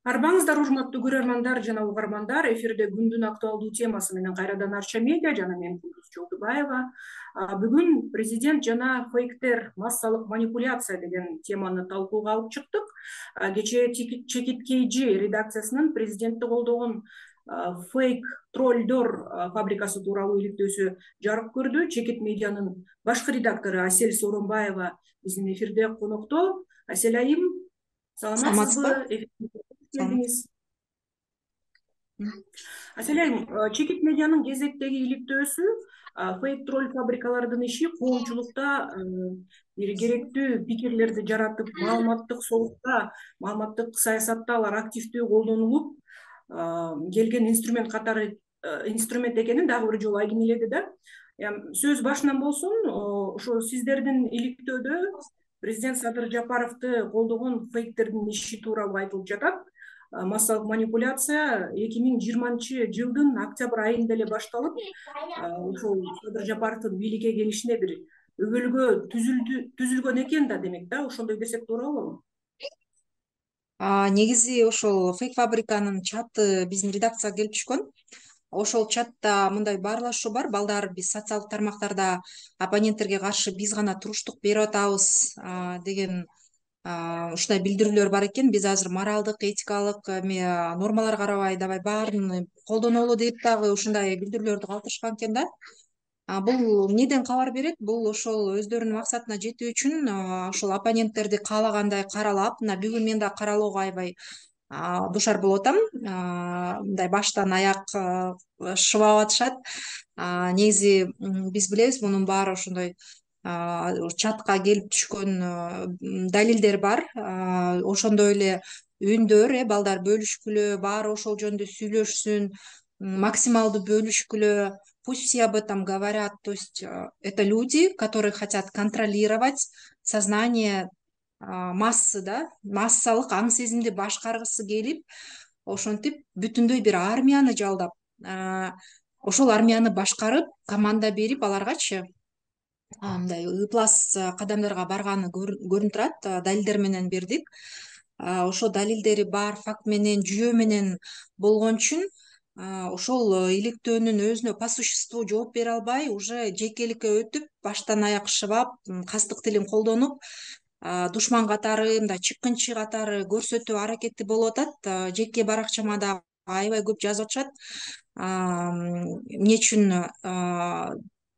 Арбаңыздар, урматтуу көрөрмандар жана угармандар. Эфирде күндүн актуалдуу темасы менен кайрадан Арча медиа жана мен Кулдуз Жолдубаева. Бүгүн президент жана фейктер, массалык манипуляция деген теманы талкууга алып чыктык. Кечээ Чекиткейжи редакциясынын президентти колдогон фейк троллдор фабрикасы тууралуу иликтөөсү жарык көрдү. Чекит медианын башкы редактору Асель Сооронбаева биздин эфирде конокто. Асель айым, саламатсызбы? Келдиңиз. Асель айым, Чекит медианын кезектеги иликтөөсү фейк тролль фабрикалардын иши коомчулукта бир керектүү пикирлерди жаратып, маалыматтык согукта, маалыматтык саясатта алар активдүү колдонулуп келген инструмент экенин дагы бир жолу айкинеледи да. Сөз башынан болсун, ошо сиздердин иликтөөдө президент Садыр Жапаровду колдогон фейктердин иши тууралуу айтылып жатат. Массалык манипуляция 2020-жылдын октябрь айында эле башталып, ошол Садыр Жапаровдун бийликке келишине бир өбөлгө түзүлгөн экен да, демек да, ошондой десек туура болобу? Негизи ошол фейк фабриканын чаты биздин редакцияга келип түшкөн. Ошол чатта мындай баарлашуу бар: балдар, биз социалдык тармактарда оппоненттерге каршы биз гана туруштук берип атабыз деген ушундай билдирүүлөр бар экен. Биз азыр моралдык, этикалык нормаларга карабай давай баарын колдонолу деп дагы ушундай билдирүүлөрдү калтырышкан экен да. Бул эмнеден кабар берет? Бул ошол өздөрүнүн максатына жетүү үчүн ошол оппоненттерди каалагандай каралап, мына бүгүн мен да каралоого аябай душар болуп атам. Мындай баштан аяк шыбап атышат. Негизи биз билебиз, мунун баары ошондой чатка келип түшкөн далилдер бар. Ошондой эле үндөр, балдар бөлүшкүлө, баары ошол жөнүндө сүйлөшсүн, максималдуу бөлүшкүлө. Пусть все об этом говорят. То есть это люди, которые хотят контролировать сознание массы, да, массалык аң сезимди башкаргысы келип, ошентип бүтүндөй бир армияны жалдап, ошол армияны башкарып, команда берип аларгачы мындай ыплас кадамдарга барганы көрүнүп турат. Далилдер менен бердик. Ошо далилдери бар, факт менен, жүйө менен болгон үчүн ошол иликтөөнүн өзүнө по существу жооп бере албай, уже жекеликке өтүп, баштан аяк шыбап, кастык тилин колдонуп, душман катары, мындай чыккынчы катары көрсөтүү аракети болуп атат. Жеке баракчама да аябай көп жазып атышат. Эмне үчүн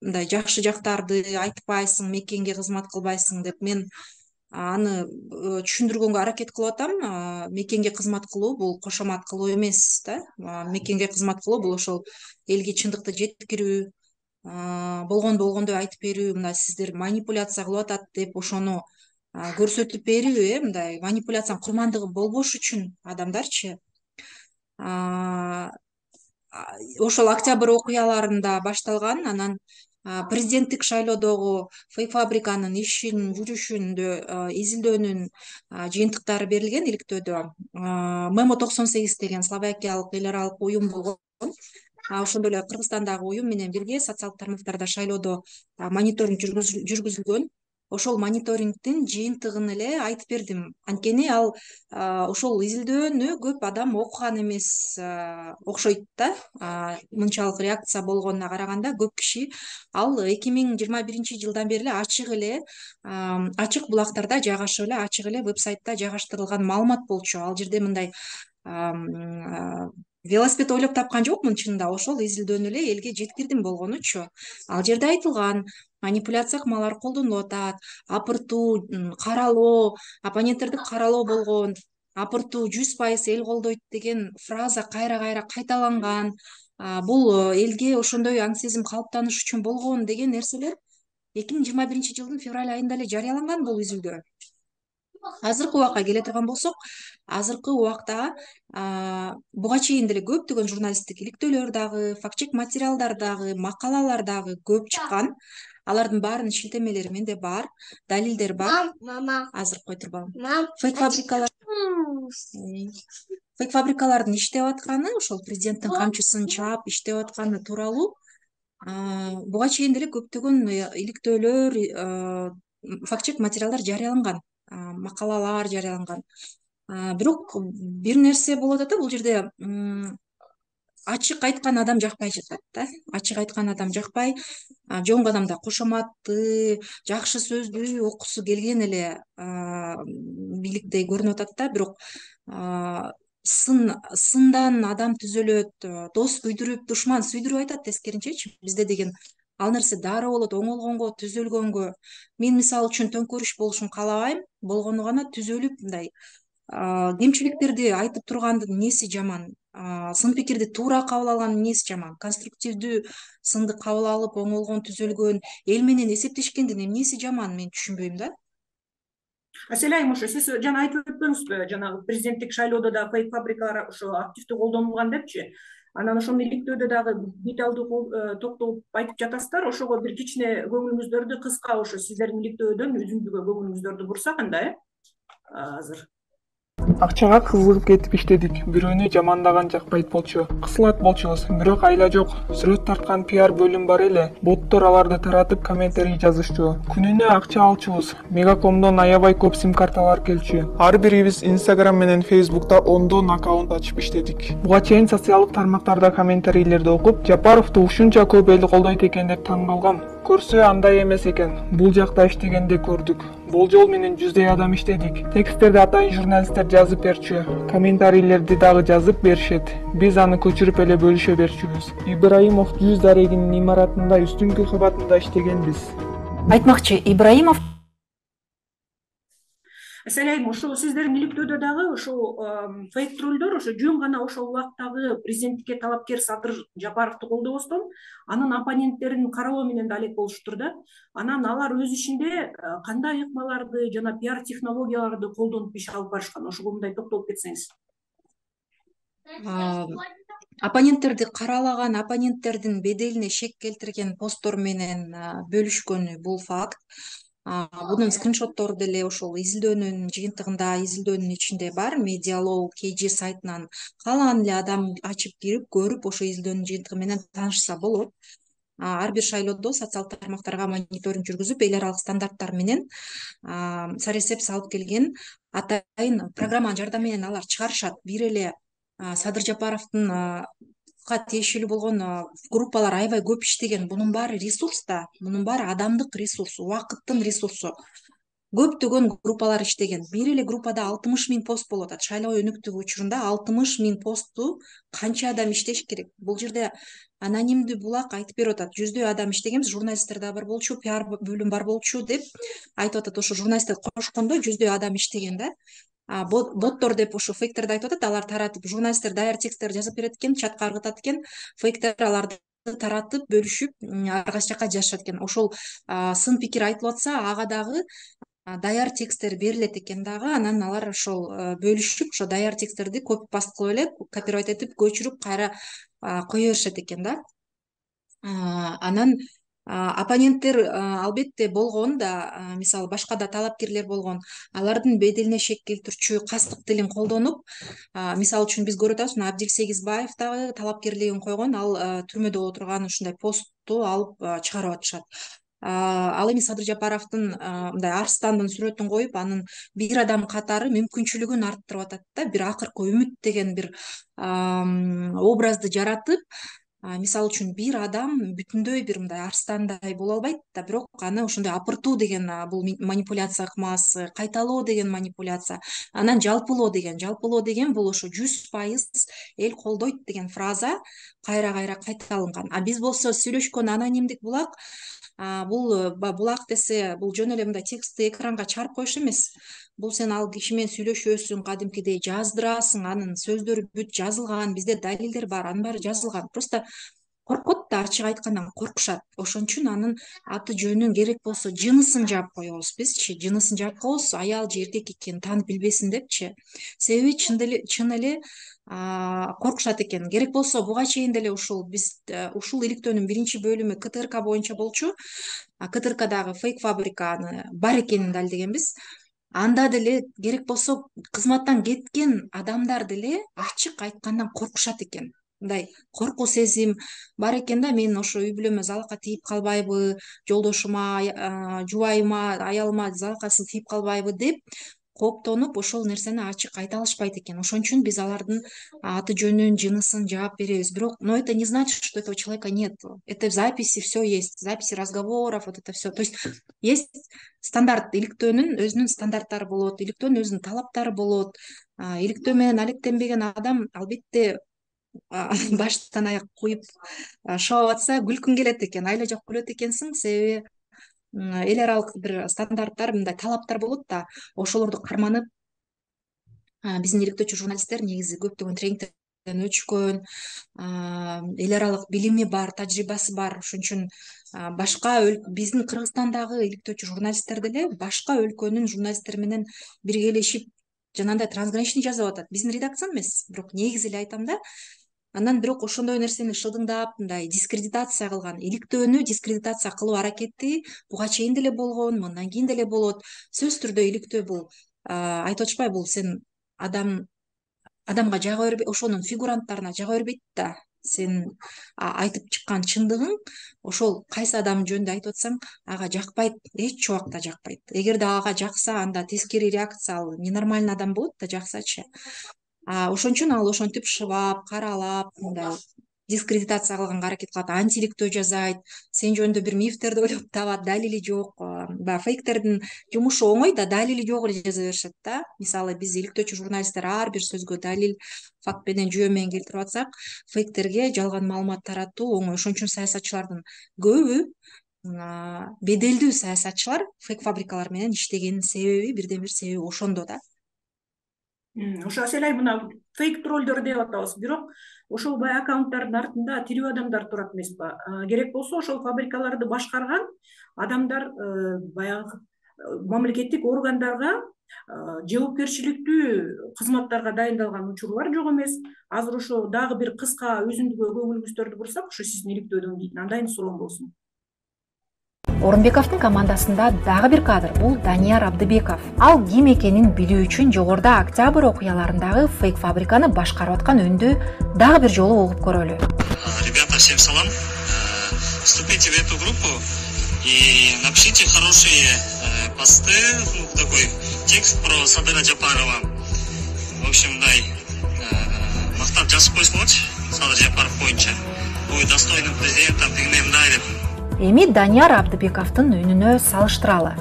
мындай жакшы жактарды айтпайсың, мекенге кызмат кылбайсың деп мен аны түшүндүргөнгө аракет кылып атам. Мекенге кызмат кылуу бул кошомат кылуу эмес да. Мекенге кызмат кылуу бул ошол элге чындыкты жеткирүү, болгондой айтып берүү. Мына сиздер манипуляция кылып атат деп ошону көрсөтүп берүү, мындай манипуляциянын курмандыгы болбош үчүн адамдарчы. Ошол октябрь окуяларында башталган, анан президенттик шайлоодогу фейк фабриканын ишинин жүрүшүндө изилдөөнүн жыйынтыктары берилген иликтөөдө. Memo 98 деген словакиялык эл аралык уюм болгон. Ошондой эле Кыргызстандагы уюм менен бирге социалдык тармактарда шайлоодо мониторинг жүргүзүлгөн. Ошол мониторингдин жыйынтыгын эле айтып бердим. Анткени ал ошол изилдөөнү көп адам окуган эмес окшойт да. Мынчалык реакция болгонуна караганда көп киши ал 2021-жылдан бери эле ачык булактарда жайгашып эле, ачык эле веб-сайтта жайгаштырылган маалымат болчу. Ал жерде мындай велосипед ойлоп тапкан жокмун. Чынында ошол изилдөөнү эле элге жеткирдим болгонучу. Ал жерде айтылган манипуляция кымалар колдонулуп атат, апыртуу, каралоо, оппоненттерди каралоо болгон, апыртуу 100% эл колдойт деген фраза кайра кайталанган. Бул элге ошондой аң сезим калыптаныш үчүн болгон деген нерселер 2021-жылдын февраль айында эле жарыяланган бул изилдөө. Азыркы убакка келе турган болсок, азыркы убакта буга чейин деле көптөгөн журналисттик иликтөөлөр дагы, факт-чек материалдар дагы, макалалар дагы көп чыккан. Алардын баарынын шилтемелери менде бар, далилдер бар. Азыр кой турбагым. Фейк фабрикалардын иштеп атканы, ошол президенттин камчысын чаап иштеп атканы тууралуу буга чейин деле көптөгөн иликтөөлөр, факт-чек материалдар жарыяланган, макалалар жарыяланган. Бирок бир нерсе болуп атат да, бул жерде ачык айткан адам жакпай жатат да. Ачык айткан адам жакпай, жоң адамда кошоматты, жакшы сөздү окугусу келген эле бийликтей көрүнүп атат да. Бирок сындан адам түзөлөт, дос күйдүрүп, душман сүйдүрүп айтат тескеринчечи. Бизде деген ал нерсе дароо болот, оңолгонго, түзөлгөнгө. Мен мисалы үчүн төңкөрүш болушун каалабайм, болгону гана түзөлүп мындай кемчиликтерди айтып тургандын эмнеси жаман, сын пикирди туура кабыл алгандын эмнеси жаман, конструктивдүү сынды кабыл алып, оңолгон, түзөлгөн, эл менен эсептешкендин эмнеси жаман, мен түшүнбөйм да. Аселайым, ошо сиз жана айтып өтпөңүзбү, жанагы президенттик шайлоодо да фейк фабрикалар ошо активдүү колдонулган депчи. Анан ошону иликтөөдө дагы деталдуу токтолуп айтып жатасыздар. Ошого бир кичине көңүлүңүздөрдү кыска, ошо сиздердин иликтөөдөн үзүндүгө көңүлүңүздөрдү бурсак анда, азыр. Акчага кызыгып кетип иштедик. Бирөөнү жамандаган жакпайт болчу. Кысылат болчубуз, бирок айла жок. Сүрөт тарткан пиар бөлүм бар эле. Боттор аларды таратып комментарий жазышчу. Күнүнө акча алчубуз. Мегакомдон аябай көп сим карталар келчү. Ар бирибиз Instagram менен Facebook'та ондон аккаунт ачып иштедик. Буга чейин социалдык тармактарда комментарийлерди окуп, Жапаровду ушунча көп эл колдойт экен деп таң калгам. Көрсө андай эмес экен. Бул жакта иштегенде көрдүк. Болжол менен 100дөй адам иштедик. Тексттерди атайын журналисттер жазып берчү. Комментарийлерди дагы жазып беришет. Биз аны көчүрүп эле бөлүшө берчүбүз. Ибраимов 100 дарегинин имаратында үстүңкү кабатында иштегенбиз. Айтмакчы, Ибраимов Аселайым, ошо сиздердин иликтөөдө дагы ошо фейк троллдор ошо жөн гана ошол убактагы президенттикке талапкер Садыр Жапаровду колдобостон, анын оппоненттерин каралоо менен да алек болуштур да. Анан алар өз ишинде кандай ыкмаларды жана пиар технологияларды колдонуп иш алып барышкан, ошого мындай токтолуп кетсеңиз. оппоненттерди каралаган, оппоненттердин беделине шек келтирген посттор менен бөлүшкөнү бул факт. Бунун скриншоттору деле ошол изилдөөнүн жыйынтыгында, изилдөөнүн ичинде бар. Медиалоу KG сайтынан каалаган эле адам ачып кирип, көрүп, ошо изилдөөнүн жыйынтыгы менен таанышса болот. Ар бир шайлоодо социалдык тармактарга мониторинг жүргүзүп, эл аралык стандарттар менен саресеп салып келген атайын программанын жардамы менен алар чыгарышат. Бир эле Садыр Жапаровдун тиешелүү болгон группалар аябай көп иштеген. Бунун баары ресурс да, бунун баары адамдык ресурс, убакыттын ресурсу. Көптөгөн группалар иштеген. Бир эле группада 60 000 пост болуп атат. Шайлоо өнүктүгү учурунда 60 000 постту канча адам иштеш керек? Бул жерде анонимдүү булак айтып берип атат. 100дөй адам иштегенбиз, журналисттер да бар болчу, пиар бөлүм бар болчу деп айтып атат. Ошо журналисттер кошкондо 100дөй адам иштеген да. Боттор деп ошо фейктерди айтып атат, алар таратып, журналисттер даяр тексттер жазып берет экен, чатка ыргытат экен, фейктер аларды таратып, бөлүшүп, ар кайсы жака жазышат экен. Ошол сын пикир айтылып атса, ага дагы даяр тексттер берилет экен дагы, анан алар ошол бөлүшүп, ошо даяр тексттерди копи паст кылып эле, копирайт этип, көчүрүп кайра кое беришет экен да. Анан оппоненттер албетте болгон да, мисалы башка да талапкерлер болгон, алардын беделине шек келтирчү кастык тилин колдонуп, мисалы үчүн биз көрүп атабыз, Абдил Сегизбаев дагы талапкерлигин койгон, ал түрмөдө отурган ушундай постту алып чыгарып атышат. Ал эми Садыр Жапаровдун мындай арстандын сүрөтүн коюп, анын бир адам катары мүмкүнчүлүгүн арттырып атат да, бир акыркы үмүт деген бир образды жаратып, мисалы үчүн бир адам бүтүндөй бир мындай арстандай боло албайт да, бирок аны ошондой апыртуу деген бул манипуляция ыкмасы, кайталоо деген манипуляция, анан жалпылоо деген бул ошо 100% эл колдойт деген фраза кайра кайра кайталанган. Биз болсо сүйлөшкөн анонимдик булак, бул булак десе, бул жөн эле мындай текстти экранга чыгарып коюш эмес. Бул сен ал киши менен сүйлөшөсүң, кадимкидей жаздырасың, анын сөздөрү бүт жазылган, бизде далилдер бар, анын баары жазылган. Просто коркот да, ачык айткандан коркушат. Ошон үчүн анын аты жөнүн, керек болсо жынысын жаап коебуз бизчи, жынысын жаап коебуз, аял же эркек экенин таанып билбесин депчи. Себеби чын эле коркушат экен. Керек болсо буга чейин деле ушул биз ушул иликтөөнүн биринчи бөлүмү КТРК боюнча болчу. КТРКдагы фейк фабриканы бар экенин далилдегенбиз. Анда деле керек болсо кызматтан кеткен адамдар деле ачык айткандан коркушат экен. Мындай коркуу сезим бар экен да, мен ошо үй бүлөмө залалка тийип калбайбы, жолдошума, жубайыма, аялыма залалкасы тийип калбайбы деп кооптонуп ошол нерсени ачык айта алышпайт экен. Ошон үчүн биз алардын аты жөнүн, жынысын жаап беребиз. Бирок, но это не значит, что этого человека нет. Это в записи все есть, записи разговоров, вот это все. То есть стандарт, иликтөөнүн өзүнүн стандарттары болот, иликтөөнүн өзүнүн талаптары болот. Иликтөө менен алектенбеген адам албетте баштан аяк куюп шоп атса күлкүң келет экен, айла жок күлөт экенсиң, себеби эл аралык бир стандарттар, мындай талаптар болот да, ошолорду карманып биздин иликтөөчү журналисттер негизи көптөгөн тренингтерден өтүшкөн, эл аралык билими бар, тажрыйбасы бар. Ошон үчүн башка биздин Кыргызстандагы иликтөөчү журналисттер деле башка өлкөнүн журналисттери менен биргелешип жанагындай трансграничный жасап атат. Биздин редакция эмес, бирок негизи эле айтам да. Андан бирок ошондой нерсени шылдыңдап, мындай дискредитация кылган, иликтөөнү дискредитация кылуу аракети буга чейин деле болгон, мындан кийин деле болот. Сөзсүз түрдө иликтөө бул айтып атышпайбы, бул сен адамга жага бербей, ошонун фигуранттарына жага бербейт да. Сен айтып чыккан чындыгың ошол кайсы адам жөнүндө айтып атсаң, ага жакпайт, эч убакта жакпайт. Эгерде ага жакса, анда тескери реакция, ал ненормальный адам болот да, жаксачы. Ошон үчүн ал ошентип шыбап, каралап, мындай дискредитация кылганга аракет кылат, антииликтөө жасайт, сен жөнүндө бир мифтерди ойлоп табат, далили жок. Баягы фейктердин жумушу оңой да, далили жок эле жаза беришет да. Мисалы, биз иликтөөчү журналисттер ар бир сөзгө далил, факт менен, жүйө менен келтирип атсак, фейктерге жалган маалымат таратуу оңой. Ошон үчүн саясатчылардын көбү, беделдүү саясатчылар фейк фабрикалар менен иштегенин себеби, бирден бир себеби ошондо да. Ошо Аселай, мына фейк троллдор деп атабыз, бирок ошол баягы аккаунттардын артында тирүү адамдар турат эмеспи? Керек болсо ошол фабрикаларды башкарган адамдар баягы мамлекеттик органдарга жоопкерчиликтүү кызматтарга дайындалган учурлар жок эмес. Азыр ошо дагы бир кыска өзүндүгү көңүлүңүздөрдү бурсак, ошо сиздин иликтөөдөн кийин андайын суроом болсун. Орунбековдун командасында дагы бир кадр, бул Данияр Абдыбеков. Ал ким экенин билүү үчүн жогоруда Октябрь окуяларындагы фейк фабриканы башкарып аткан үндү дагы бир жолу угуп көрөлү. Ребята, всем салам. Вступите в эту группу и напишите хорошие посты, такой текст про Садыра Жапарова. В общем, дай мактап жазып койсоңуз, Садыр Жапаров боюнча. Будет достойным президентом, дегенем дайрып. Эми Данияр Абдыбековдун үнүнө салыштыралы.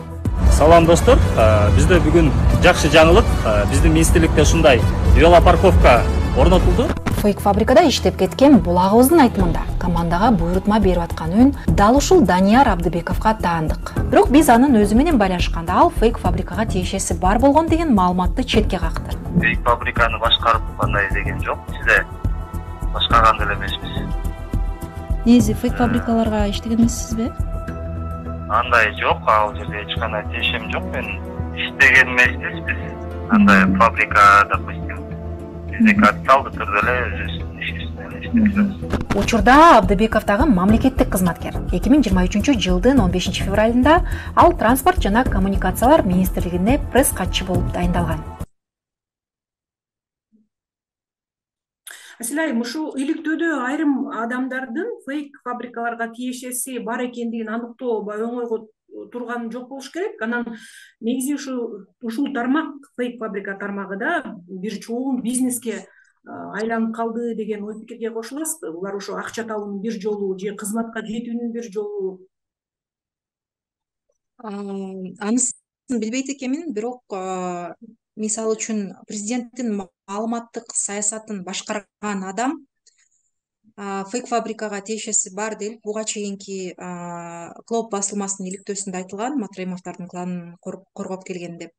Салам достор, бизде бүгүн жакшы жаңылык. Биздин министрликте ушундай велопарковка орнотулду. Фейк фабрикада иштеп кеткен булагыбыздын айтымында командага буйрутма берип аткан үн дал ушул Данияр Абдыбековго таандык. Бирок биз анын өзү менен байланышканда ал фейк фабрикага тиешеси бар болгон деген маалыматты четке какты. Фейк фабриканы башкарып кандай деген жок, сизде башкарган деле эмеспиз. Негизи фейк фабрикаларга иштеген эмессизби? Андай жок, ал жерде эч кандай тиешем жок. Мен иштеген эмеспиз биз. Андай фабрика, допустим, бизде официалдуу түрдө эле иштейбиз. Учурда Абдыбеков дагы мамлекеттик кызматкер. 2023 жылдын 15 февралында ал Транспорт жана коммуникациялар министрлигине пресс катчы болуп дайындалган. Аселай, ушул иликтөөдө айрым адамдардын фейк фабрикаларга тиешеси бар экендигин аныктоо оңойго турган жок болуш керек. Анан негизи ушул тармак, фейк фабрика тармагы да бир чоң бизнеске айланып калды деген ой пикирге кошуласызбы? Булар ошо акча табуунун бир жолу же кызматка жетүүнүн бир жолу? Анысын билбейт экенмин, бирок мисалы үчүн президенттин маалыматтык саясатын башкарган адам фейк фабрикага тиешеси бар делип буга чейинки Клоп басылмасынын иликтөөсүндө айтылган, Матраимовдордун кланын коргоп келген деп.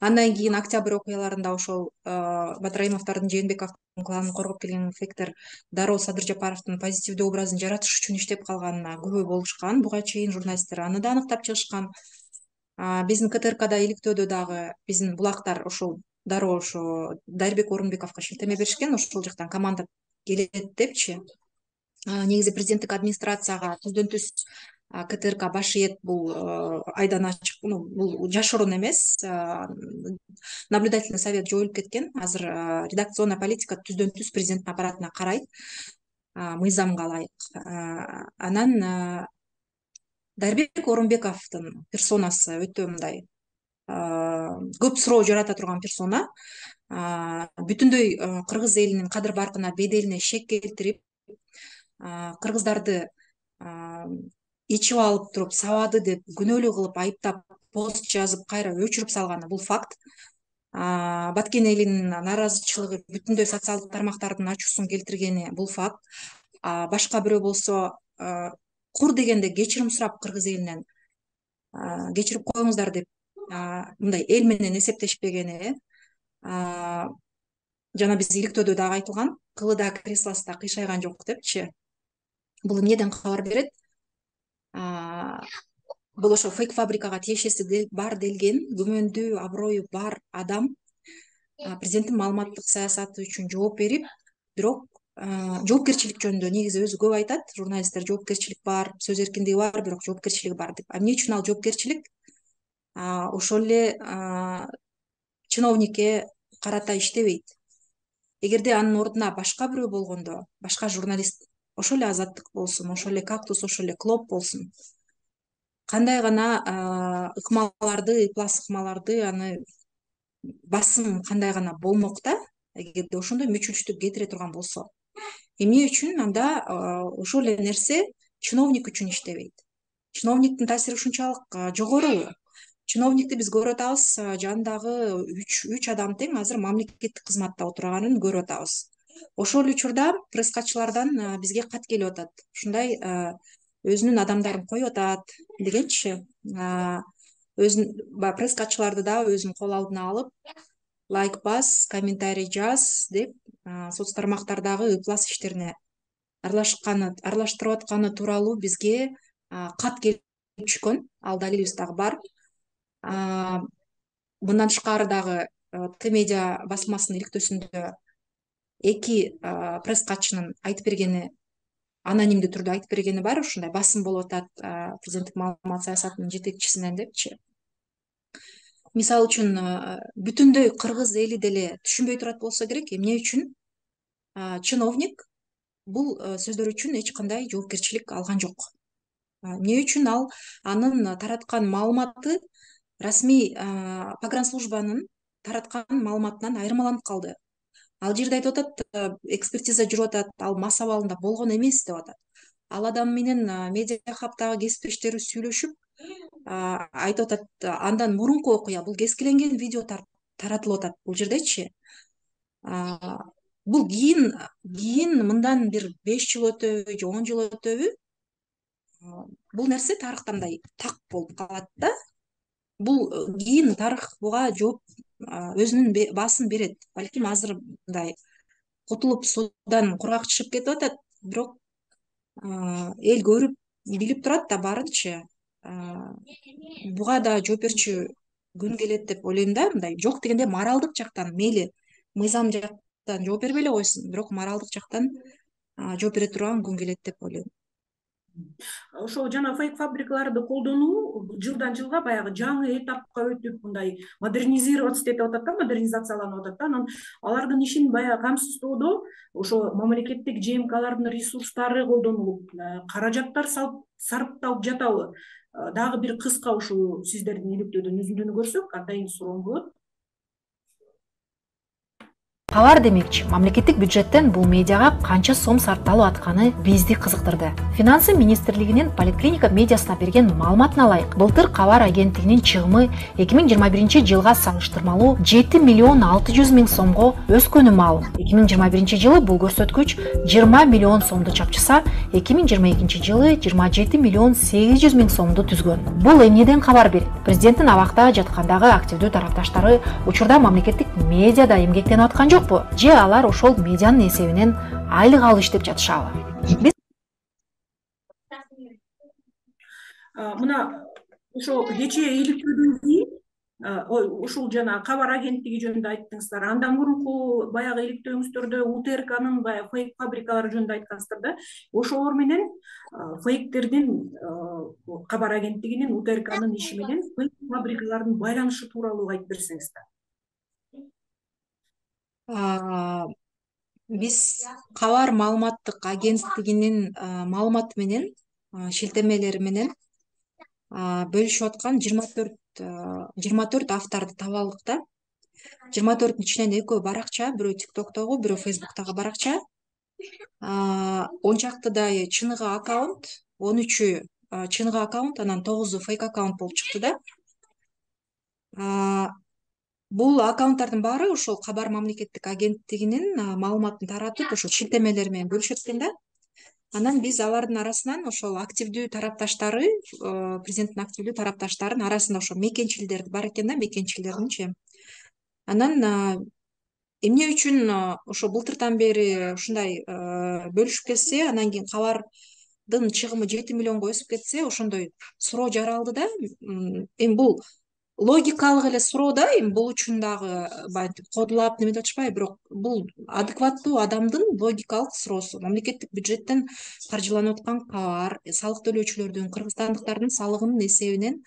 Андан кийин Октябрь окуяларында ошол Матраимовдордун, Жээнбековдун кланын коргоп келген фейктер дароо Садыр Жапаровдун позитивдүү образын жаратыш үчүн иштеп калганына күбө болушкан. Буга чейин журналисттер аны да аныктап чыгышкан. Биздин КТРКда иликтөөдө дагы биздин булактар ошол дароо ошо Дарбек Орунбековго шилтеме беришкен, ошол жактан команда келет депчи. Негизи президенттик администрацияга түздөн түз КТРК баш ийет, бул айдан ачык, бул жашыруун эмес. Наблюдательный совет жоюлуп кеткен. Азыр редакционная политика түздөн түз президенттин аппаратына карайт, мыйзамга ылайык. Анан Дарбек Орунбековдун персонасы өтө мындай көп суроо жарата турган персона, бүтүндөй кыргыз элинин кадыр баркына, беделине шек келтирип, кыргыздарды ичип алып туруп сабады деп күнөөлүү кылып айыптап пост жазып кайра өчүрүп салганы бул факт. Баткен элинин нааразычылыгы бүтүндөй социалдык тармактардын ачуусун келтиргени бул факт. Башка бирөө болсо кур дегенде кечирим сурап кыргыз элинен кечирип коюңуздар деп мындай эл менен эсептешпегени, жана биз иликтөөдө дагы айтылган, кылы да креслосу да кыйшайган жок депчи. Бул эмнеден кабар берет? Бул ошо фейк фабрикага тиешеси бар делген, күмөндүү, аброю бар адам президенттин маалыматтык саясаты үчүн жооп берип, бирок жоопкерчилик жөнүндө негизи өзү көп айтат. Журналисттер жоопкерчилик бар, сөз эркиндиги бар, бирок жоопкерчилиги бар деп. Эмне үчүн ал жоопкерчилик? Ошол эле чиновникке карата иштебейт. Эгерде анын ордуна башка бирөө болгондо, башка журналист, ошол эле Азаттык болсун, ошол эле Кактус, ошол эле Клоп болсун, кандай гана ыкмаларды, ыплас ыкмаларды, аны басым кандай гана болмок да, эгерде ошондой мүчүлүштүк кетире турган болсо. Эмне үчүн анда ошол эле нерсе чиновник үчүн иштебейт? Чиновниктин таасири ушунчалык жогору. Чиновникти биз көрүп атабыз, жанындагы 3 адам тең азыр мамлекеттик кызматта отурганын көрүп атабыз. Ошол учурда пресс катчылардан бизге кат келип атат. Ушундай өзүнүн адамдарын коюп атат дегенчи. Өзүн пресс катчыларды да өзүнүн кол алдына алып, лайк бас, комментарий жаз деп соц тармактардагы ыплас иштерине аралаштырып атканы тууралуу бизге кат келип түшкөн. Ал далилибиз дагы бар. Мындан тышкары дагы Т-медиа басмасынын иликтөөсүндө 2 пресс катчынын айтып бергени, анонимдүү түрдө айтып бергени бар. Ушундай басым болуп атат президенттик маалымат саясатынын жетекчисинен депчи. Мисалы үчүн бүтүндөй кыргыз эли деле түшүнбөй турат болсо керек, эмне үчүн чиновник бул сөздөр үчүн эч кандай жоопкерчилик алган жок. Эмне үчүн ал анын тараткан маалыматы расмий погранслужбанын тараткан маалыматынан айырмаланып калды. Ал жерде айтып атат, экспертиза жүрүп атат, ал мас абалында болгон эмес деп атат. Ал адам менен медиа хабтагы кесиптештери сүйлөшүп айтып атат, андан мурунку окуя, бул кескиленген видео таратылып атат бул жердечи. Бул кийин мындан бир 5 жыл өтөбү же 10 жыл өтөбү, бул нерсе тарыхта мындай так болуп калат да. Бул кийин тарых буга жооп өзүнүн баасын берет. Балким азыр мындай кутулуп суудан кургак чыгып кетип атат, бирок эл көрүп билип турат да баарынчы. Буга да жооп берчү күн келет деп ойлойм да. Мындай жок дегенде моралдык жактан, мейли мыйзам жактан жооп бербей эле койсун, бирок моралдык жактан жооп бере турган күн келет деп ойлойм. Ошо жана фейк фабрикаларды колдонуу жылдан жылга баягы жаңы этапка өтүп, мындай модернизироваться деп атат да, модернизацияланып атат да. Анан алардын ишин баягы камсыздоодо ошо мамлекеттик ЖМКлардын ресурстары колдонулуп, каражаттар сарпталып жатабы? Дагы бир кыска ушул сиздердин иликтөөдөн үзүндүнү көрсөк, атайын суроом болот. Кабар демекчи, мамлекеттик бюджеттен бул медиага канча сом сарпталып атканы бизди кызыктырды. Финансы министрлигинин поликлиника медиасына берген маалыматына ылайык, былтыр кабар агенттигинин чыгымы 2021 жылга салыштырмалуу 7 миллион 600 миң сомго өскөнү маалым. 2021 жылы бул көрсөткүч 20 миллион сомду чапчыса, 2022 жылы 27 миллион 800 миң сомду түзгөн. Бул эмнеден кабар берет? Президенттин абакта жаткандагы активдүү тарапташтары учурда мамлекеттик медиада эмгектенип аткан жокпу? Же алар ошол медианын эсебинен айлык алып иштеп жатышабы? Мына ошо кечээ иликтөөдөн кийин ушул жана кабар агенттиги жөнүндө айттыңыздар. Андан мурунку баягы иликтөөңүздөрдө УТРКнын баягы фейк фабрикалары жөнүндө айткансыздар да. Ошолор менен фейктердин кабар агенттигинин УТРКнын иши менен фейк фабрикалардын байланышы тууралуу айтып берсеңиздер. Биз кабар маалыматтык агенттигинин маалыматы менен, шилтемелери менен бөлүшүп аткан 24 24 авторду таап алдык да. 24-тün ичинен экөө баракча, бирөө TikToктогу, бирөө Facebooктогу баракча. 10 чактыдай чыныгы аккаунт, 13-ü чыныгы аккаунт, анан 9-у фейк аккаунт болуп чыкты да. Бул аккаунттардын баары ошол Кабар мамлекеттик агенттигинин маалыматын таратып, ошол шилтемелер менен бөлүшөт экен да. Анан биз алардын арасынан ошол активдүү тарапташтары, президенттин активдүү тарапташтарынын арасында ошол мекенчилдер бар экен да, мекенчилердинчи. Анан эмне үчүн ошо былтыртан бери ушундай бөлүшүп кетсе, анан кийин кабардын чыгымы 7 миллионго өсүп кетсе, ошондой суроо жаралды да. Эми бул логикалык эле суроо да, эми бул үчүн дагы баягы кодулап неметип атышпайбы, бирок бул адекваттуу адамдын логикалык суроосу. Мамлекеттик бюджеттен каржыланып аткан кабар, салык төлөөчүлөрдүн, кыргызстандыктардын салыгынын эсебинен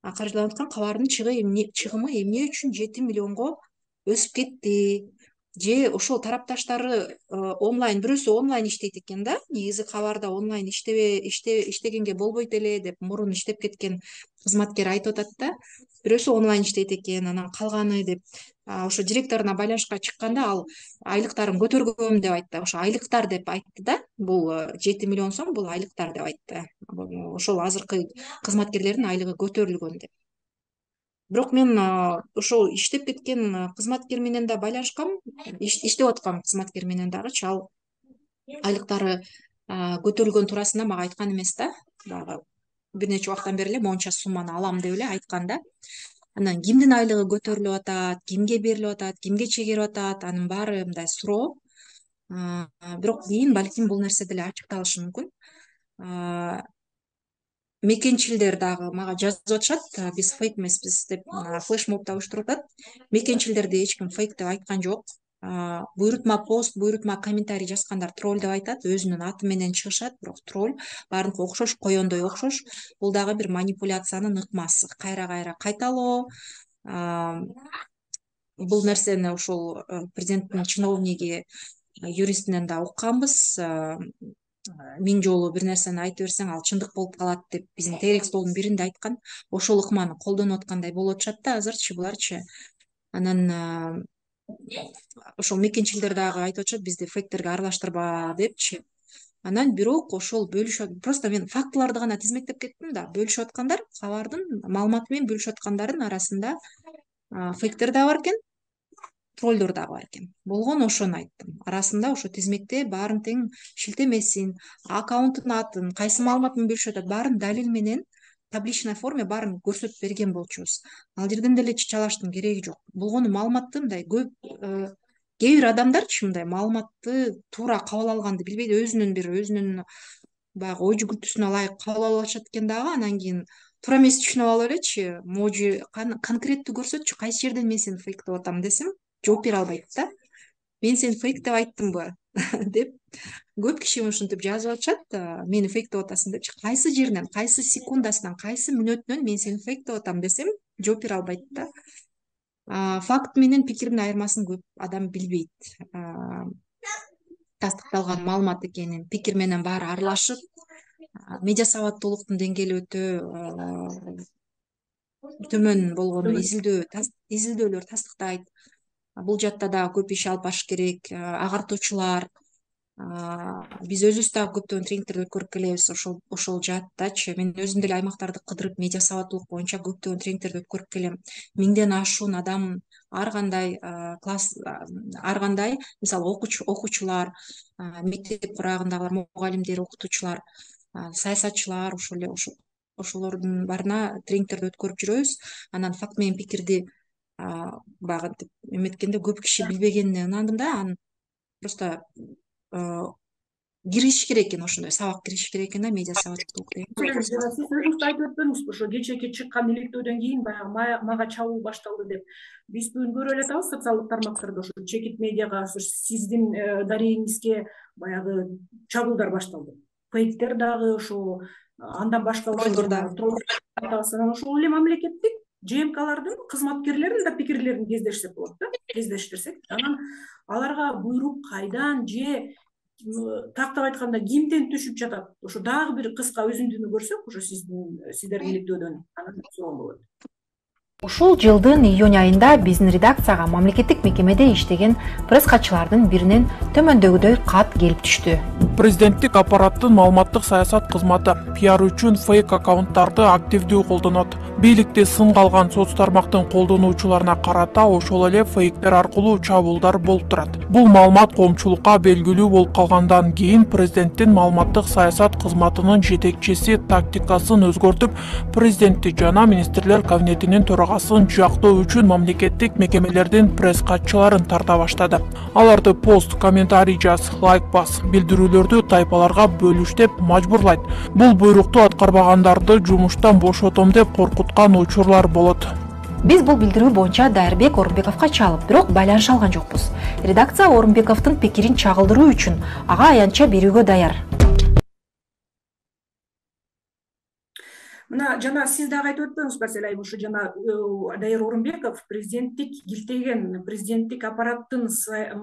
каржыланып аткан кабардын чыгымы эмне үчүн 7 миллионго өсүп кетти? Же ошол тарапташтары онлайн, бирөөсү онлайн иштейт экен да, негизи кабарда онлайн иштегенге болбойт эле деп мурун иштеп кеткен кызматкер айтып атат да. Бирөөсү онлайн иштейт экен, анан калганы деп ошо директоруна байланышка чыкканда ал айлыктарын көтөргөм деп айтты. Ошо айлыктар деп айтты да. Бул 7 миллион сом, бул айлыктар деп айтты. Ошол азыркы кызматкерлердин айлыгы көтөрүлгөн деп. Бирок мен ошол иштеп кеткен кызматкер менен да байланышкам, иштеп аткан кызматкер менен дагычы, ал айлыктары көтөрүлгөн туурасында мага айткан эмес да. Дагы бир нече убактан бери эле монча сумманы алам деп эле айткан да. Анан кимдин айлыгы көтөрүлүп атат, кимге берилип атат, кимге чегерип атат, анын баары мындай суроо. Бирок кийин балким бул нерсе деле ачыкталышы мүмкүн. Мекенчилдер дагы мага жазып атышат, биз фейк эмеспиз деп, флешмобду уюштуруп атат. Мекенчилдерди эч ким фейк деп айткан жок. Буйрутма пост, буйрутма комментарий жазгандар тролль деп айтат, өзүнүн аты менен чыгышат, бирок тролль, баарыныкы окшош, коёндой окшош. Бул дагы бир манипуляциянын ыкмасы, кайра кайталоо. Бул нерсени ошол президенттин чиновниги, юристинен да укканбыз. 1000 жолу бир нерсени айтып берсең, ал чындык болуп калат деп биздин Терек столдун биринде айткан. Ошол ыкманы колдонуп аткандай болуп атышат да азырчы буларчы. Анан ошол мекенчилдер дагы айтып атышат, бизди фейктерге аралаштырба депчи. Анан бирок ошол бөлүшөт. Просто мен фактыларды гана тизмектеп кеттим да. Бөлүшүп аткандар, кабардын маалыматы менен бөлүшүп аткандардын арасында фейктер да бар экен, троллдор да бар экен. Болгону ошону айттым. Арасында ошо тизмекте баарын тең шилтемесин, аккаунттун атын, кайсы маалымат менен бөлүшүп атат, баарын далил менен табличный форме баарын көрсөтүп берген болчубуз. Ал жерден деле чачалаштын кереги жок. Болгону маалыматты мындай көп кээ бир адамдарчы мындай маалыматты туура кабыл алганды билбейт, өзүнүн баягы ой жүгүртүүсүнө ылайык кабыл алып атышат экен дагы. Анан кийин туура эмес түшүнүп алып элечи, можу конкреттүү көрсөтчү, кайсы жерден мен сени фейк деп атам десем, жооп бере албайт да. Мен сени фейк деп айттымбы деп көп киши ушинтип жазып атышат, мени фейк деп атасың депчи. Кайсы жеринен, кайсы секундасынан, кайсы мүнөтүнөн мен сени фейк деп атам десем, жооп бере албайт да. Факт менен пикирдин айырмасын көп адам билбейт. Тастыкталган маалымат экенин, пикир менен баары аралашып, медиа сабаттуулуктун деңгээли өтө төмөн болгону изилдөөлөр тастыктайт. Бул жакта дагы көп иш алып барыш керек. Агартуучулар, биз өзүбүз дагы көптөгөн тренингтерди өткөрүп келебиз ошол жааттачы. Мен өзүм деле аймактарды кыдырып медиа сабаттуулук боюнча көптөгөн тренингтерди өткөрүп келем. 1000ден ашуун адам, ар кандай класс, ар кандай, мисалы окуучулар, мектеп курагындагылар, мугалимдер, окутуучулар, саясатчылар, ошолордун баарына тренингтерди өткөрүп жүрөбүз. Анан факт менен пикирди багынтип эметкенде көп киши билбегенине ынандым да. Анан просто киришиш керек экен, ошондой сабак киришиш керек экен да, медиа сабаттуулук деген. Сиз өзүңүз айтып өттүңүз, ошо кечээки чыккан иликтөөдөн кийин баягы мага чабуу башталды деп. Биз бүгүн көрүп эле атабыз социалдык тармактарда, ошо чекит медиага, сиздин дарегиңизге баягы чабуулдар башталды. Фейктер дагы, ошо андан башка анан ошол эле мамлекеттик ЖМКлардын кызматкерлеринин да пикирлерин кездештирсек болот да, кездештирсек. Анан аларга буйрук кайдан же тактап айтканда кимден түшүп жатат? Ошо дагы бир кыска өзүндүнү көрсөк, ошо сиздердин иликтөөдөн анан сонун болот. Ушул жылдын июнь айында биздин редакцияга мамлекеттик мекемеде иштеген пресс катчылардын биринен төмөндөгүдөй кат келип түштү. Президенттик аппараттын маалыматтык саясат кызматы пиар үчүн фейк аккаунттарды активдүү колдонот. Бийликти сынга алган соц тармактын колдонуучуларына карата ошол эле фейктер аркылуу чабуулдар болуп турат. Бул маалымат коомчулукка белгилүү болуп калгандан кийин президенттин маалыматтык саясат кызматынын жетекчиси тактикасын өзгөртүп, президентти жана министрлер кабинетинин төрагасын жактоо үчүн мамлекеттик мекемелердин пресс катчыларын тарта баштады. Аларды пост, комментарий жаз, лайк бас, билдирүүлөрдү тайпаларга бөлүш деп мажбурлайт. Бул буйрукту аткарбагандарды жумуштан бошотом деп коркуткан учурлар болот. Биз бул билдирүү боюнча Дайырбек Орунбековго чалып, бирок байланыша алган жокпуз. Редакция Орунбековдун пикирин чагылдыруу үчүн ага аянтча берүүгө даяр. Мына жана сиз дагы айтып өтпөңүз Барселай, ушу жана Дайыр Орунбеков президенттик килтеген президенттик аппараттын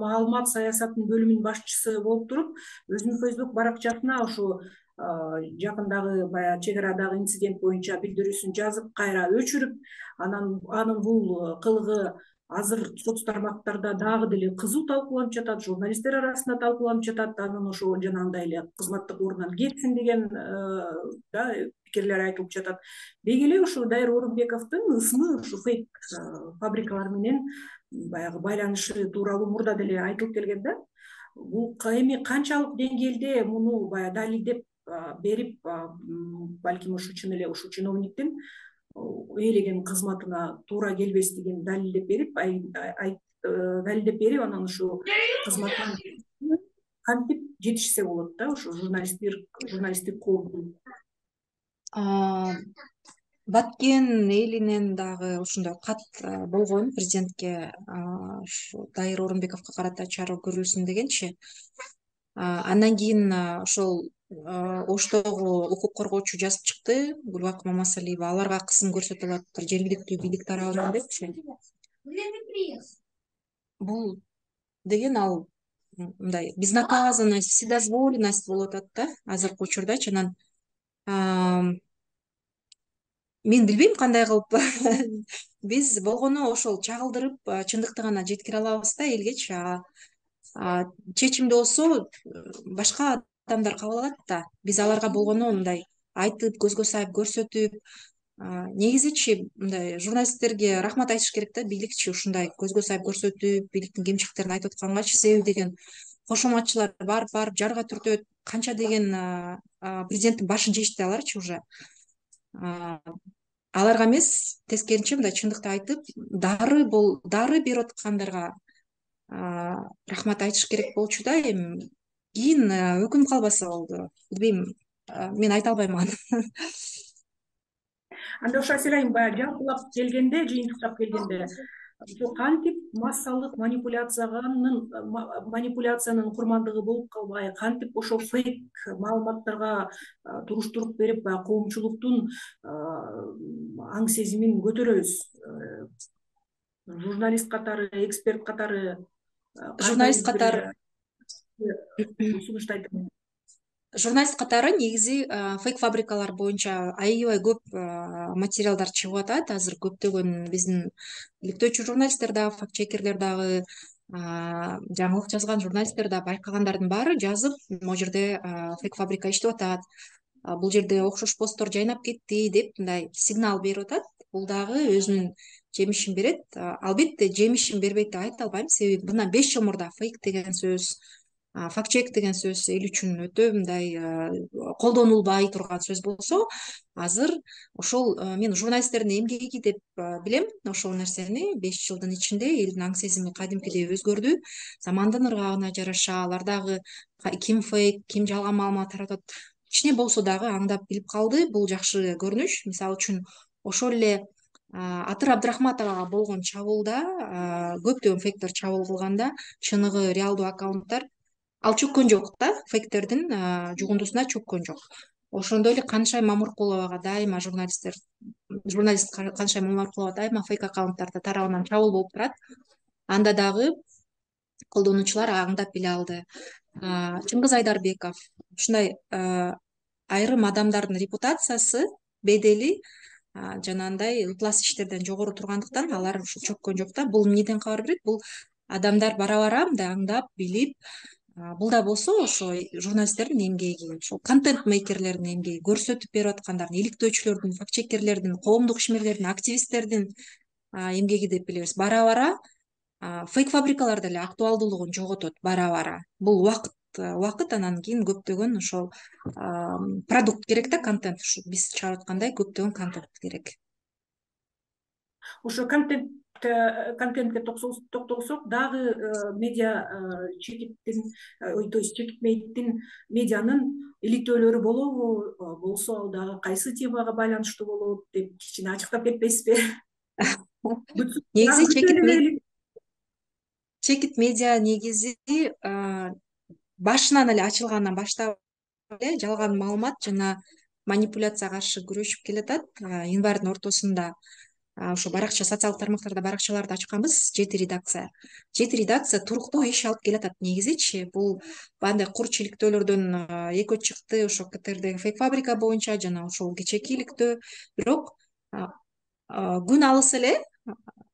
маалымат саясатынын бөлүмүнүн башчысы болуп туруп, өзүнүн Facebook баракчасына ушу жакындагы баягы чек арадагы инцидент боюнча билдирүүсүн жазып, кайра өчүрүп, анын бул кылыгы азыр соц тармактарда дагы деле кызуу талкууланып жатат, журналисттер арасында талкууланып жатат. Анын ошо жанагындай эле кызматтык ордунан кетсин деген пикирлер айтылып жатат. Деги эле ушу Дайыр Орунбековдун ысымы ушу фейк фабрикалар менен баягы байланышы тууралуу мурда деле айтылып келген да. Бул эми канчалык деңгээлде муну баягы далилдеп берип, балким ушу чын эле ушу чиновниктин ээлеген кызматына туура келбестигин далилдеп берип, анан ушу кызматтан кантип жетишсе болот да, ушу журналисттик коомдун. Баткен элинен дагы ушундай кат болгон президентке, ушу Дайыр Орунбековго карата чара көрүлсүн дегенчи. Андан кийин ошол Оштогу укук коргоочу жазып чыкты, Гүлбак Мамасалиева, аларга кысым көрсөтүп атыптыр жергиликтүү бийлик тарабынан депчи. Бул деген ал мындай безнаказанность, вседозволенность болуп атат да азыркы учурдачы. Анан мен билбейм кандай кылып биз болгону ошол чагылдырып, чындыкты гана жеткире алабыз да элгечи. Чечимди болсо башка адамдар кабыл алат да. Биз аларга болгону мындай айтып, көзгө сайып көрсөтүп, негизичи мындай журналисттерге рахмат айтыш керек да, бийликчи ушундай көзгө сайып көрсөтүп, бийликтин кемчиликтерин айтып аткангачы, себеби деген кошоматчылар барып жарга түртөт, канча деген президенттин башын жешти аларчы уже. Аларга эмес, тескерисинче мындай чындыкты айтып, дары берип аткандарга рахмат айтыш керек болчу да. Эми кийин өкүнүп калбаса болду. Билбейм, мен айта албайм аны. Анда ошо Селайым баягы жалпылап келгенде, жыйынтыктап келгенде, кантип массалык манипуляциянын курмандыгы болуп калбай, кантип ошол фейк маалыматтарга туруштуруп берип, баягы коомчулуктун аң сезимин көтөрөбүз. Журналист катары, эксперт катары, журналист катары негизи фейк фабрикалар боюнча аябай көп материалдар чыгып атат. Азыр көптөгөн биздин иликтөөчү журналисттер дагы, фактчекерлер дагы, жаңылык жазган журналисттер да байкагандардын баары жазып, могу жерде фейк фабрика иштеп атат, бул жерде окшош посттор жайнап кетти деп мындай сигнал берип атат. Бул дагы өзүнүн жемишин берет. Албетте жемишин бербейт деп айта албайм, себеби мындан 5 жыл мурда фейк деген сөз, фактчек деген сөз эл үчүн өтө мындай колдонулбай турган сөз болсо, азыр ошол мен журналисттердин эмгеги деп билем. Ошол нерсени 5 жылдын ичинде элдин аң сезими кадимкидей өзгөрдү. Замандын ыргагына жараша алар дагы ким фейк, ким жалган маалымат таратат, кичине болсо дагы аңдап билип калды. Бул жакшы көрүнүш. Мисалы үчүн ошол эле Атыр Абдрахматовага болгон чабуулда, көптөгөн фейктер чабуул кылганда, чыныгы реалдуу аккаунттар ал чөккөн жок да, фейктердин жугундусуна чөккөн жок. Ошондой эле Канышай Мамыркуловага дайыма журналист Канышай Мамыркулова дайыма фейк аккаунттар тарабынан чабуул болуп турат. Анда дагы колдонуучулар аңдап биле алды. Чыңгыз Айдарбеков, ушундай айрым адамдардын репутациясы, бедели жанагындай ыплас иштерден жогору тургандыктан алар ушу чөккөн жок да. Бул эмнеден кабар берет? Бул адамдар бара бара мындай аңдап билип, бул да болсо ошо журналисттердин эмгеги, ошол контент мейкерлердин эмгеги, көрсөтүп берип аткандардын, иликтөөчүлөрдүн, факт чеккерлердин, коомдук ишмерлердин, активисттердин эмгеги деп билебиз. Бара бара фейк фабрикалар деле актуалдуулугун жоготот бара бара. Бул убакыт, анан кийин көптөгөн ошол продукт керек да, контент. Ушу биз чыгарып аткандай көптөгөн контент керек. Ошо контентке токтолсок дагы медиа чекиттин, то есть чекитмейдин медианын иликтөөлөрү болобу, болсо ал дагы кайсы темага байланыштуу болот деп кичине ачыктап кетпейсизби? Негизи чекит медиа негизи башынан эле, ачылгандан баштап эле жалган маалымат жана манипуляцияга каршы күрөшүп келатат. Январдын ортосунда ошо баракча, социалдык тармактарда баракчаларды ачканбыз. 7 редакция туруктуу иш алып келатат. Негизичи бул бандай кур иликтөөлөрдөн экөө чыкты, ошо КТРдеги фейк фабрика боюнча жана ошол кечээки иликтөө. Бирок күн алыс эле,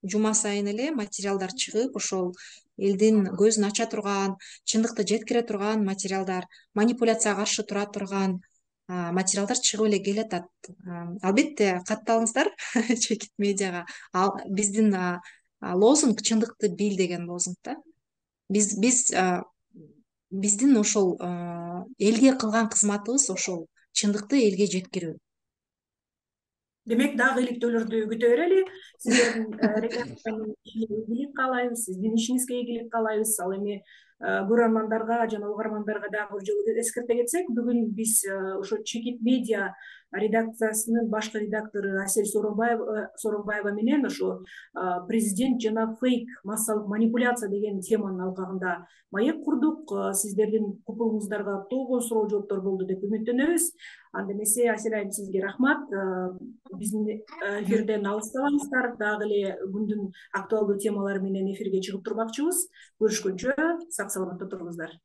жума сайын эле материалдар чыгып, ошол элдин көзүн ача турган, чындыкты жеткире турган материалдар, манипуляцияга каршы тура турган материалдар чыгып эле келатат. Албетте катталыңыздар чекит медиага. Биздин лозунг чындыкты бил деген лозунг да. Биздин ошол элге кылган кызматыбыз ошол чындыкты элге жеткирүү. Демек дагы иликтөөлөрдү күтө берели. Сиздердин редакциянын ишине ийгилик каалайбыз, сиздин ишиңизге ийгилик каалайбыз. Ал эми көрөрмандарга жана угармандарга дагы бир жолу эскерте кетсек, бүгүн биз ошо Чекит медиа редакциясынын башкы редактору Асель Сооронбаева менен ошо президент жана фейк, массалык манипуляция деген теманын алкагында маек курдук. Сиздердин купуңуздарга толгон суроо жооптор болду деп үмүттөнөбүз. Анда эмесе Асель айым, сизге рахмат. Биздин эфирден алыстабаңыздар. Дагы эле күндүн актуалдуу темалары менен эфирге чыгып турмакчыбыз. Көрүшкөнчө сак саламатта туруңуздар.